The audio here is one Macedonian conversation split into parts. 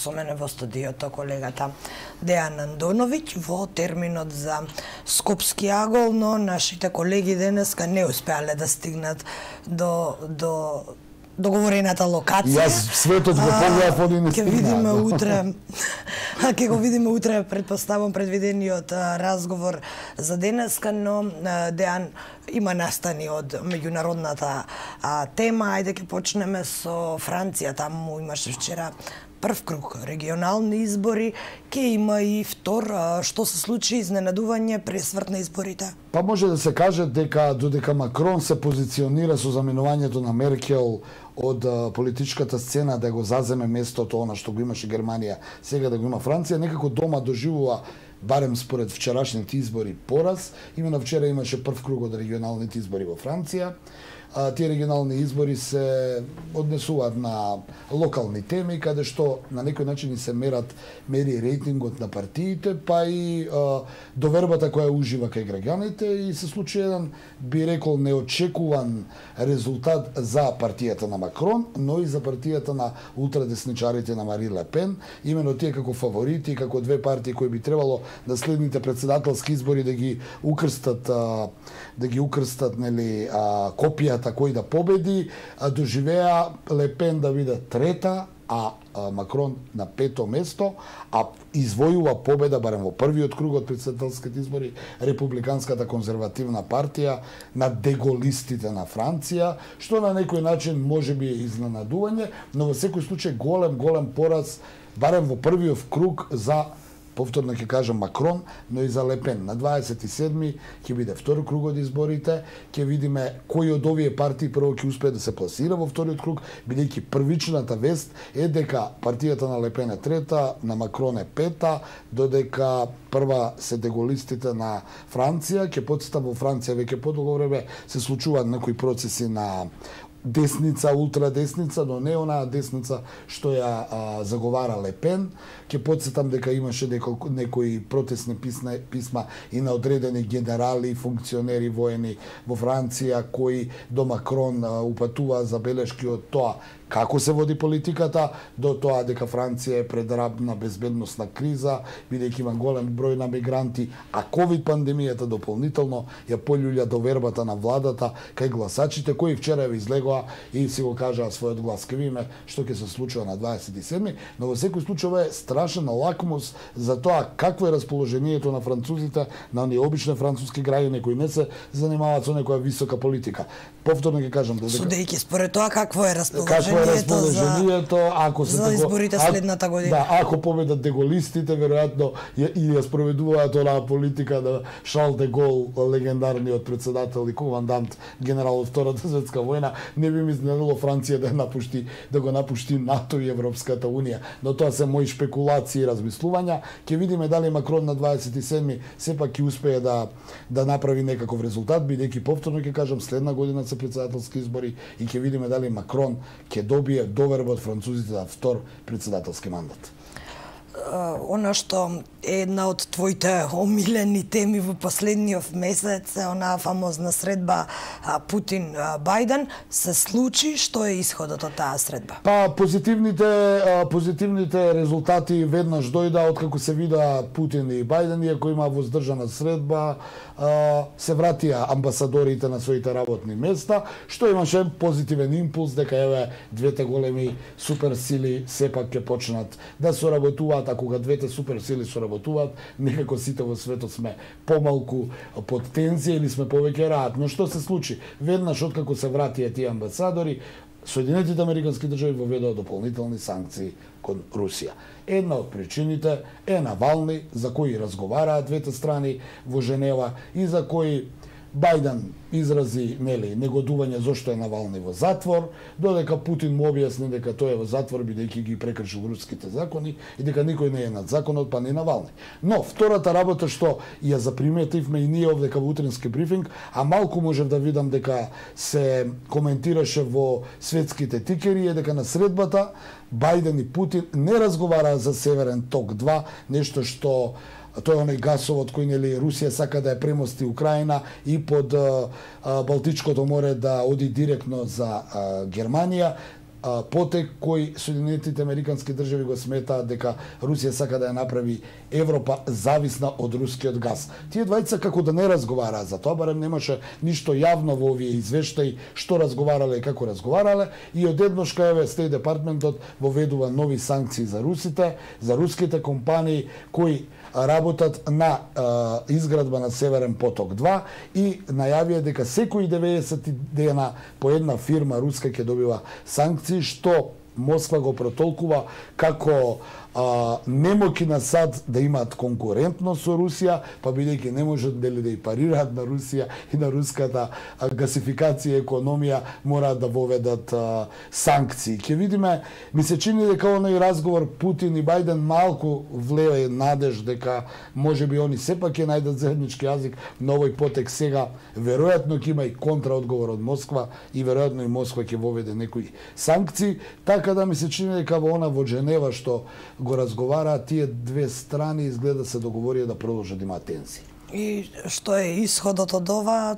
со мене во студиото колегата Дејан Андоновиќ во терминот за Скопски агол, но нашите колеги денеска не успеале да стигнат до договорената локација. Јас светот го погледав, они не стигнаа. Ќе видиме утре. Ќе го видиме утре, предпоставам, предвидениот разговор за денеска, но Дејан има настани од меѓународната тема. Ајде ќе почнеме со Франција. Таму имаше вчера прв круг регионални избори, ќе има и втор. Што се случи, изненадување, пресврт на изборите? Па може да се каже дека додека Макрон се позиционира со заменувањето на Меркел од политичката сцена да го заземе местото она што го имаше Германија, сега да го има Франција, некако дома доживува, барем според вчерашните избори, пораз. Именно вчера имаше прв круг од регионалните избори во Франција. Тие регионални избори се однесуваат на локални теми, каде што на некој начин и се мери рейтингот на партиите, па и довербата која ужива кај граѓаните, и се случи еден, би рекол, неочекуван резултат за партијата на Макрон, но и за партијата на ултрадесничарите на Мари Ле Пен, имено тие како фаворити, како две партии кои би требало да следните председателски избори да ги укрстат нели копијата кој да победи, доживеа Ле Пен да биде трета, а Макрон на пето место, а извојува победа барем во првиот круг од председателските избори Републиканската конзервативна партија на деголистите на Франција, што на некој начин може би е изненадување, но во секој случај голем пораз барем во првиот круг за, повторно ќе кажам, Макрон, но и за Ле Пен. На 27-ми ќе биде втори круг од изборите, ќе видиме кои од овие партии прво ќе успее да се пласира во вториот круг, бидејќи првичната вест е дека партијата на Ле Пен е трета, на Макрон е пета, додека прва се деголистите на Франција. Ќе потстам, во Франција веќе подолго време се случуваат некои процеси на десница, ултрадесница, но не онаа десница што ја заговара Ле Пен. Ќе потсетам дека имаше некои протестни писма и на одредени генерали, функционери воени во Франција, кои до Макрон упатува забелешки од тоа како се води политиката, до тоа дека Франција е пред рабна безбедносна криза, бидејќи има голем број на мигранти, а ковид пандемијата дополнително ја полюља довербата на владата кај гласачите, кои вчера ја излегоа и си го кажаа својот глас. Ке видиме што ќе се случува на 27-ми, но во секој случај ова е страшен лакмус за тоа какво е расположението на французите, на оние обични француски граѓани кои не се занимаваат со некоја висока политика. Повторно ќе кажам, судејќи според тоа какво е расположението ако се за изборите следната година. Да, ако победат деголистите, веројатно и ја спроведуваат онаа политика на Шарл де Гол, легендарниот председател и командант генерал од Втората светска војна, не би ми изненадило Франција да го напушти НАТО и Европската унија. Но тоа се мои шпекулации и размислувања. Ќе видиме дали Макрон на 27-ми сепак ќе успее да направи некаков резултат, бидејќи повторно ќе кажам, следна година се председателски избори и ќе видиме дали Макрон ќе добие доверба од французите за втор председателски мандат. Она што е една од твоите омилени теми во последниот месец, онаа фамозна средба Путин-Бајден, се случи. Што е исходот од таа средба? Па позитивните резултати веднаш дојда откако се вида Путин и Бајден, иако има воздржана средба, се вратија амбасадорите на своите работни места, што имаше позитивен импулс дека еве двете големи суперсили сепак ќе почнат да соработуваат, а кога двете суперсили соработуваат, некако сите во светот сме помалку под тензија или сме повеќе раат. Но што се случи? Веднаш откако се вратија тие амбасадори, Соединетите Американски држави воведоа дополнителни санкции кон Русија. Една од причините е Навални, за кои разговараат двете страни во Женева и за кои Бајден изрази негодување зошто е Навални во затвор, додека Путин му објасни дека тој е во затвор бидејќи ги прекршил руските закони и дека никој не е над законот, па не Навални. Но втората работа што ја заприметивме и ние овде во утрински брифинг, а малку можев да видам дека се коментираше во светските тикери, е дека на средбата Бајден и Путин не разговараа за Северен ток 2, нешто што тој оној гасовод кој Русија сака да ја премости Украина и под Балтичкото море да оди директно за Германија. потек кој Соединетите Американски држави го сметаат дека Русија сака да ја направи Европа зависна од рускиот газ. Тие двајца како да не разговараа за тоа, барем немаше ништо јавно во овие извештаи што разговарале и како разговарале, и одеднаш кај Стејт департментот воведува нови санкции за русите, за руските компании кои работат на изградба на Северен поток 2 и најавија дека секои 90 дена по една фирма руска ќе добива санкции, што Москва го протолкува како немоки на САД да имаат конкурентност со Русија, па бидејќи не можат да и парираат на Русија и на руската гасификација и економија, мораат да воведат санкции. Ќе видиме, ми се чини дека оној разговор Путин и Бајден малку влее надеж дека можеби они сепак ќе најдат заеднички јазик на овој потек сега. Веројатно ќе има и контраодговор од Москва и веројатно и Москва ќе воведе некои санкции, така да ми се чини дека во Женева што го разговараат тие две страни, изгледа се договорија да продолжат да имаат тензии. И што е исходот од ова?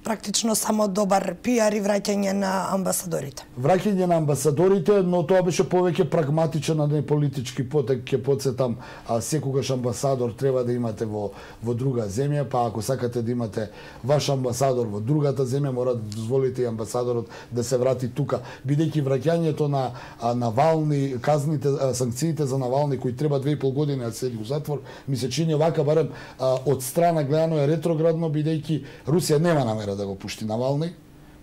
Практично само добар пиар и враќање на амбасадорите. Враќање на амбасадорите, но тоа беше повеќе прагматичен, а не политички потек. Ќе подсетам, секогаш амбасадор треба да имате во друга земја, па ако сакате да имате ваш амбасадор во другата земја, мора да дозволите и амбасадорот да се врати тука, бидејќи враќањето на Навални, казните, санкциите за Навални кои треба 2,5 години да седи во затвор, ми се чини вака барем од страна гледано е ретроградно, бидејќи Русија нема намера да го пушти Навални,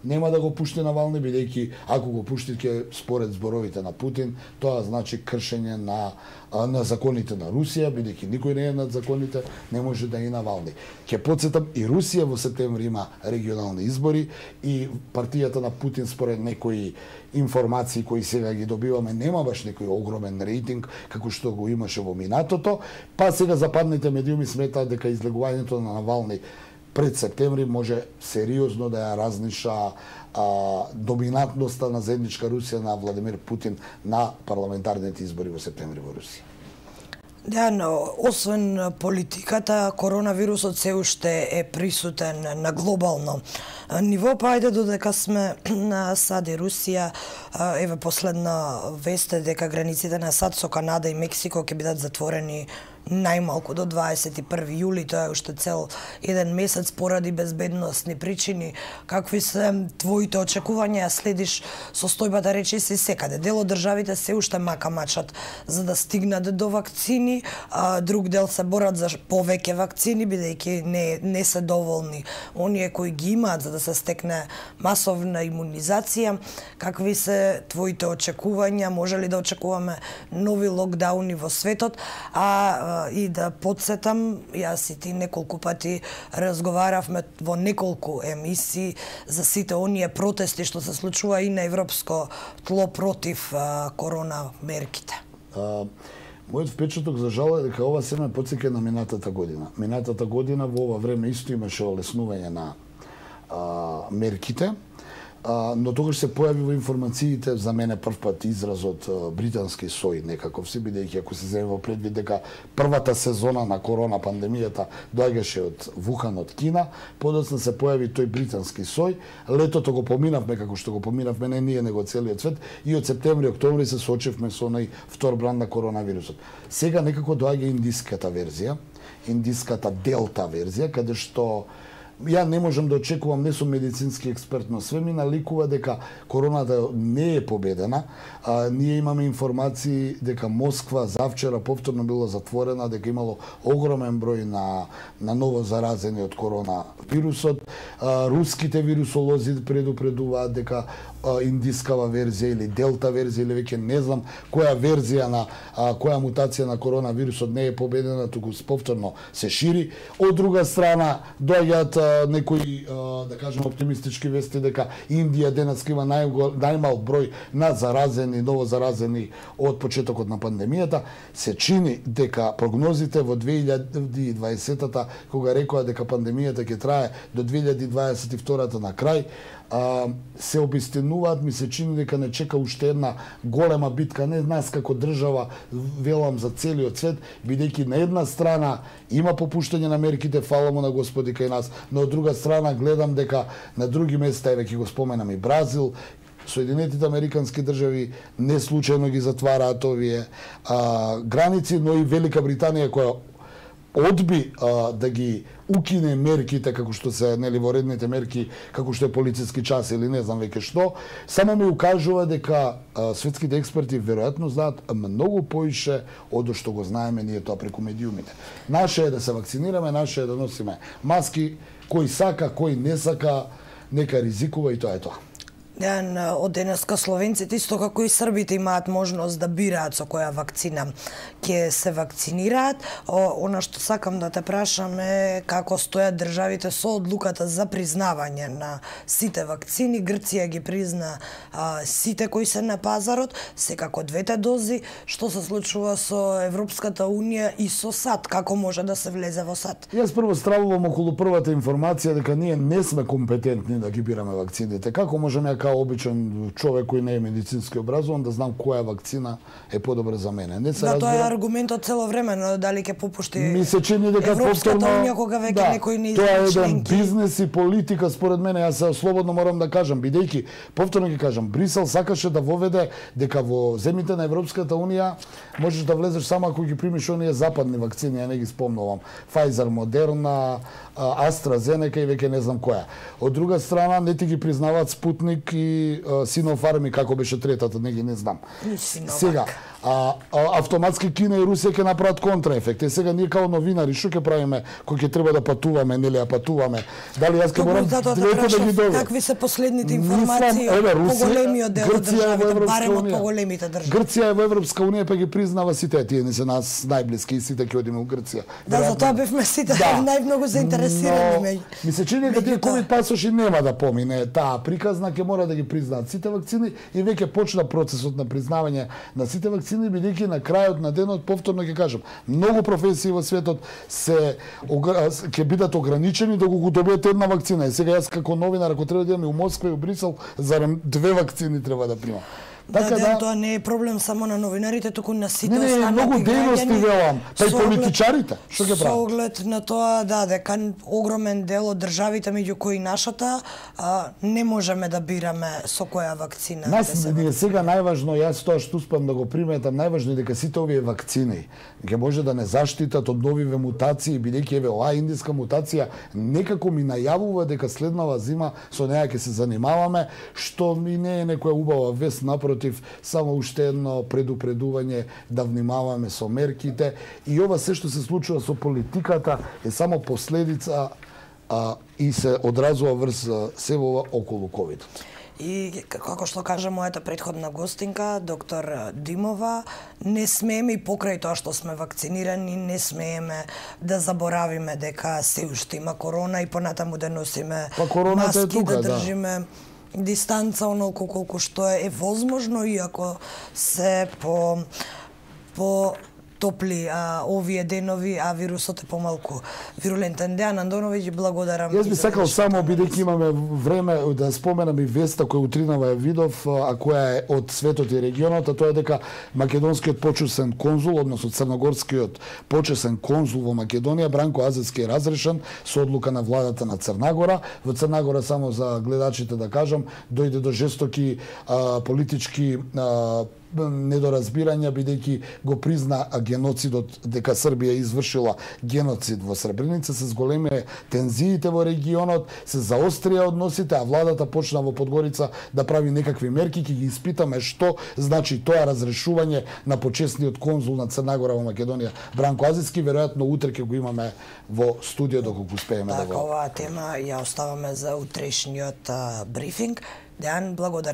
нема да го пушти Навални, бидејќи ако го пушти ќе според зборовите на Путин, тоа значи кршење на законите на Русија, бидејќи никој не е над законите, не може да и Навални. Ќе подсетам, и Русија во септември има регионални избори и партијата на Путин според некои информации кои сега ги добиваме нема баш некој огромен рейтинг како што го имаше во минатото, па сега западните медиуми сметаат дека излегувањето на Навални пред септември може сериозно да ја разниша доминантноста на заедничка Русија на Владимир Путин на парламентарните избори во септември во Русија. Да, но освен политиката, коронавирусот се уште е присутен на глобално ниво, па ајде додека сме на САД и Русија, еве последна вест е дека границите на САД со Канада и Мексико ќе бидат затворени најмалку до 21 јули, тоа е уште цел еден месец поради безбедносни причини. Какви се твоите очекувања? Следиш состојбата речиси секаде. Дел од државите се уште мака-мачат за да стигнат до вакцини, а друг дел се борат за повеќе вакцини, бидејќи не се доволни оние кои ги имаат за да се стекне масовна имунизација. Какви се твоите очекувања? Може ли да очекуваме нови локдауни во светот? И да подсетам, јас и ти неколку пати разговаравме во неколку емисии за сите оние протести што се случува и на европско тло против корона мерките. Мојот впечаток за жал е дека ова се ме потсеќа на минатата година. Минатата година во ова време исто имаше олеснување на мерките, но тогаш се појави во информациите за мене прв пат изразот британски сој некаков си, бидејќи ако се земе во предвид дека првата сезона на корона пандемијата доаѓаше од Вухан, од Кина, подоцна се појави тој британски сој. Летото го поминавме како што го поминавме не ние него целиот свет и од септември, октомври се соочевме со оној втор бранд на коронавирусот. Сега некако доаѓа индиската верзија, индиската делта верзија, каде што ја не можам да очекувам, не сум медицински експерт, но све ми наликува дека короната не е победена. Ние имаме информации дека Москва завчера повторно била затворена, дека имало огромен број на ново заразени од коронавирусот. Руските вирусолози предупредуваат дека индискава верзија или делта верзија или веќе не знам која верзија на која мутација на коронавирусот не е победена, туку повторно се шири. Од друга страна доаѓаат некои да кажем оптимистички вести дека Индија денес има најмал број на заразени, ново заразени од почетокот на пандемијата. Се чини дека прогнозите во 2020-та, кога рекоа дека пандемијата ќе трае до 2022-та на крај, се обистинуваат, ми се чини дека не чека уште една голема битка, не нас како држава, велам за целиот свет, бидејќи на една страна има попуштање на мерките, фала му на Господи кај нас, но од друга страна гледам дека на други места, еве ќе го споменам и Бразил, Соединетите Американски држави не случајно ги затвараат овие граници, но и Велика Британија која одби да ги укине мерките како што се воредните мерки, како што е полициски час или не знам веќе што, само ми укажува дека светските експерти веројатно знаат многу поише од што го знаеме ние тоа преку медиумите. Наше е да се вакцинираме, наше е да носиме маски, кој сака, кој не сака, нека ризикува и тоа е тоа. Од денеска словенците, исто како и србите, имаат можност да бираат со која вакцина ќе се вакцинираат. Она што сакам да те прашам е како стојат државите со одлуката за признавање на сите вакцини. Грција ги призна сите кои се на пазарот, секако двете дози. Што се случува со Европската Унија и со САД? Како може да се влезе во САД? Јас прво стравувам околу првата информација дека ние не сме компетентни да ги бираме вакцините. Како можеме као обичен човек кој не е медицински образован да знам која вакцина е подобра за мене. Не се тоа е аргументот цело време, но дали ќе попушти ми се чини дека Европската Унија кога веќе некој не тоа е еден членки. бизнес и политика според мене. Јас слободно морам да кажам, бидејќи повторно ги кажам, Брисел сакаше да воведе дека во земјите на Европската Унија можеш да влезеш само ако ги примиш оние западни вакцини, ја не ги спомнувам. Pfizer, Moderna, AstraZeneca и веќе не знам која. Од друга страна не ти ги признаваат Спутник и Синофарм, како беше третата, не знам. Сега, автоматски Кина и Русија ќе направат контраефект. Сега ние као новинари што ќе правиме кога ќе треба да патуваме, нели ја патуваме? Дали јас ќе морам двете да ги добијам? Какви се последните информации по големиот дел од државите, барем од поголемите држави? Грција е во Европска Унија, па ги признава сите, тие не се нас најблиски и сите ќе одиме во Грција. Да, за тоа бевме сите најмногу заинтересирани. Ми се чини дека тие ковид пасоши нема да помине таа приказна, ќе мора да ги признаат сите вакцини и веќе почна процесот на признавање на сите вакцини, бидејќи на крајот на денот, повторно ќе кажам, многу професии во светот ќе бидат ограничени да го добиете една вакцина. И сега јас како новинар, ако треба да идам и у Москва и у Брисел, зарем 2 вакцини треба да примам. Да, тоа не е проблем само на новинарите, туку на сите останати граѓани. Многу дејности велам, па и политичарите. Што ќе прават? Со оглед на тоа, дека огромен дел од државите, меѓу кои нашата, не можеме да бираме со која вакцина. Нас ние сега најважно, јас тоа што успеам да го приметам, најважно е дека сите овие вакцини ќе може да не заштитат од новиве мутации, бидејќи еве оваа индиска мутација некако ми најавува дека следнава зима со неа ќе се занимаваме, што ми не е некоја убава вест, напротив, само уште едно предупредување да внимаваме со мерките. И ова се што се случува со политиката е само последица и се одразува врз себова околу ковидот. И како што кажа мојата претходна гостинка, доктор Димова, не смееме и покрај тоа што сме вакцинирани, не смееме да заборавиме дека се уште има корона и понатаму да носиме маски, да држиме дистанца онолку колку што е возможно, иако се по топли овие денови, а вирусот е помалку вирулентен. Дејан Андоновиќ, благодарам. Јас би сакал само, бидејќи имаме време, да споменам и веста која утринава ја видов, а која е од светот и регионот, а тоа е дека македонскиот почесен конзул, односно црногорскиот почесен конзул во Македонија, Бранко Азевски, е разрешен со одлука на владата на Црнагора. Во Црнагора, само за гледачите да кажам, дојде до жестоки политички недоразбирања, бидејќи го призна геноцидот, дека Србија извршила геноцид во Сребреница, се зголемија тензиите во регионот, се заострија односите, а владата почна во Подгорица да прави некакви мерки. Ќе ги испитаме што значи тоа разрешување на почесниот конзул на Црнагора во Македонија, Бранко Азевски. Веројатно утре ќе го имаме во студио доколку успееме да го... Оваа тема ја оставаме за утрешниот брифинг. Дејан, благодарам.